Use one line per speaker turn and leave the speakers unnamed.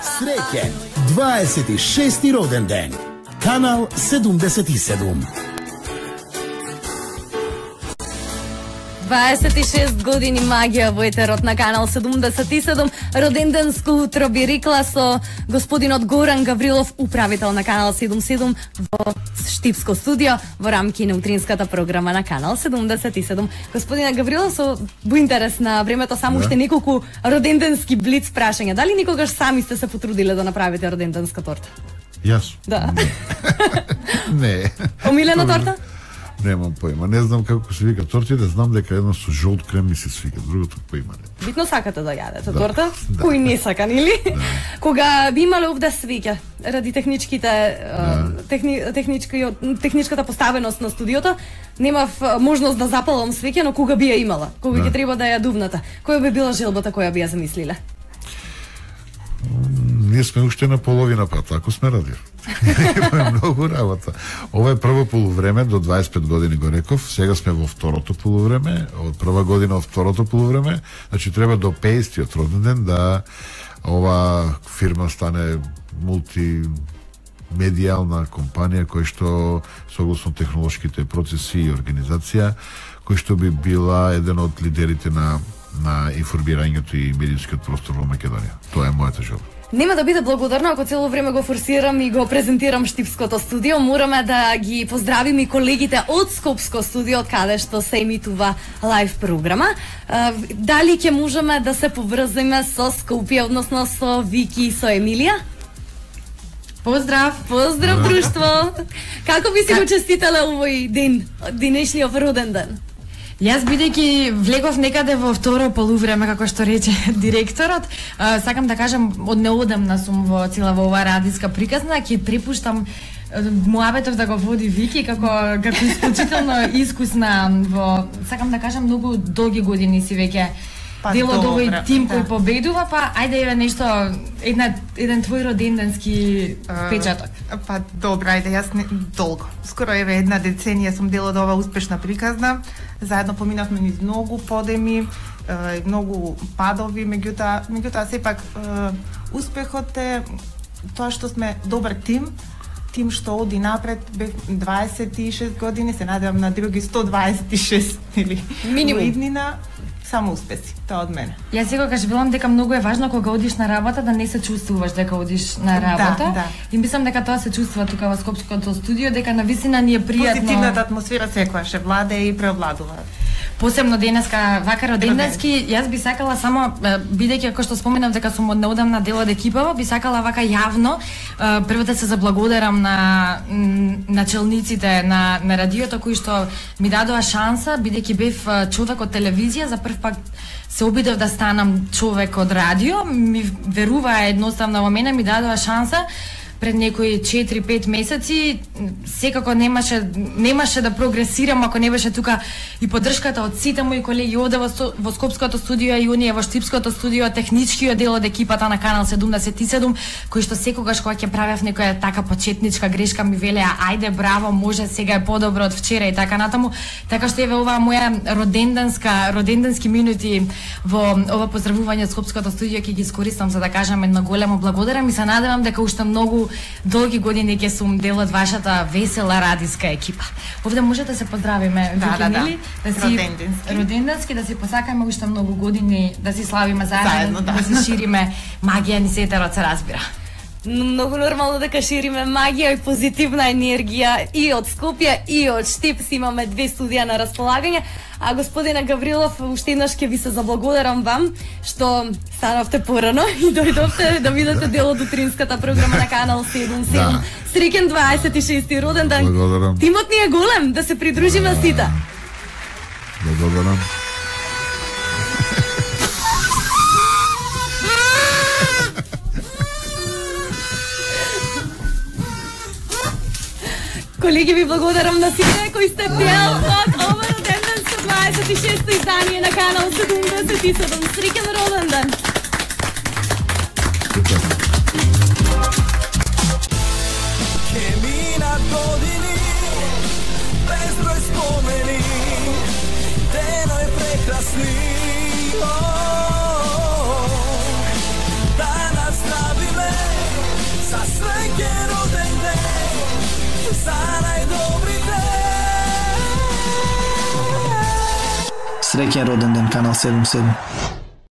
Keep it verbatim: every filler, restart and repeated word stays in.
Среќен дваесет и шести роден ден. Канал седумдесет и седум.
дваесет и шест години магија во етерот на Канал седумдесет и седум. Роденденско утро би рекла со господинот Горан Гаврилов, управител на Канал седумдесет и седум во Штипско студио во рамки на утринската програма на Канал седумдесет и седум. Господина Гаврилов, со во интерес на времето само уште да. неколку роденденски блиц прашања. Дали никогаш сами сте се потрудиле да направите роденденска торта?
Јас?
Да.
Не.
Омилена торта?
Немам поима. Не знам како се вика торти, да знам дека едно со жолт крем ми се свика, другото поима не.
Битно сакате да јадете
да.
торта?
Да.
Кој не сака, нели?
Да.
Кога би имале овде свеќа, ради техничките,
да.
техни, технички, техничката поставеност на студиото, немав можност да запалам свеќа, но кога би ја имала? Кога ќе да. треба да ја дувната? Која би била желбата која би ја замислиле?
Ние сме уште на половина пат, ако сме радио. Има многу работа. Ова е прво полувреме, до дваесет и пет години го реков, сега сме во второто полувреме, од прва година од второто полувреме, значи треба до петдесетиот роден ден да ова фирма стане мултимедијална компанија која што согласно технолошките процеси и организација, која што би била еден од лидерите на на информирањето и медиумскиот простор во Македонија. Тоа е мојата желба.
Нема да биде благодарна ако цело време го форсирам и го презентирам Штипското студио. Мораме да ги поздравиме и колегите од Скопско студио, од каде што се емитува лайв програма. Дали ќе можеме да се поврземе со Скопје, односно со Вики и со Емилија? Поздрав, поздрав друштво. Како би си го честитале овој ден, денешниот роден ден?
Јас бидејќи влегов некаде во второ полувреме, како што рече директорот, сакам да кажам, од неодамна сум во цела во оваа радиска приказна, ќе препуштам муабетов да го води Вики како како исклучително искусна во, сакам да кажам, многу долги години си веќе па, дел од овој тим да. кој победува, па ајде е нешто, една, еден твој роденденски uh, печаток.
Па добра, ајде, јас не, долго. Скоро еве една деценија сум дел од оваа успешна приказна. Заедно поминавме низ многу подеми, uh, многу падови, меѓутоа, меѓутоа сепак uh, успехот е тоа што сме добар тим, тим што оди напред, бев дваесет и шест години, се надевам на други сто дваесет и шест или
минимум
иднина. Само успеси, тоа од мене.
Јас секогаш велам дека многу е важно кога одиш на работа да не се чувствуваш дека одиш на работа.
Да, да.
И мислам дека тоа се чувствува тука во Скопското студио, дека навистина ни е пријатно.
Позитивната атмосфера секогаш е владе и преовладува.
Посебно денеска вака роденденски, јас би сакала само, бидејќи како што споменав дека сум од неодамна дел од екипава, би сакала вака јавно прво да се заблагодарам на начелниците на на радиото кои што ми дадоа шанса, бидејќи бев човек од телевизија, за прв пат се обидов да станам човек од радио, ми веруваа едноставно во мене, ми дадоа шанса пред некои четири-пет месеци. Секако немаше немаше да прогресирам ако не беше тука и поддршката од сите мои колеги овде во, во Скопското студио и оние во Штипското студио, техничкиот дел од екипата на Канал седумдесет и седум, кои што секогаш кога ќе правев некоја така почетничка грешка ми велеа ајде браво, може, сега е подобро од вчера и така натаму. Така што еве оваа моја роденденска роденденски минути во ова поздравување од Скопското студио ќе ги искористам за да кажам едно големо благодарам и се надевам дека уште многу долги години ќе сум дел од вашата весела радиска екипа. Овде може да се поздравиме,
да, да, да.
да си
роденденски.
роденденски, да си посакаме уште многу години, да си славиме заедно,
заедно да.
да си шириме магија ни се етерот се разбира.
Многу нормално дека шириме магија и позитивна енергија и од Скопје и од Штип. Имаме две студија на располагање. А господина Гаврилов, уште еднаш ќе ви се заблагодарам вам што станавте порано и дојдовте да видите дел од утринската програма на Канал седумдесет и седум. Да. Среќен дваесет и шести роден ден.
Благодарам.
Тимот ни е голем, да се придружиме да. сите.
Благодарам.
Колеги, ви благодарам на сите кои сте дел од ова роденденско дваесет и шесто издание на Канал седумдесет и седум. Среќен роден ден!
Ќе минат години, безброј спомени, деној прекрасни. Данас правиме
Среќен роден ден, Канал седумдесет и седум.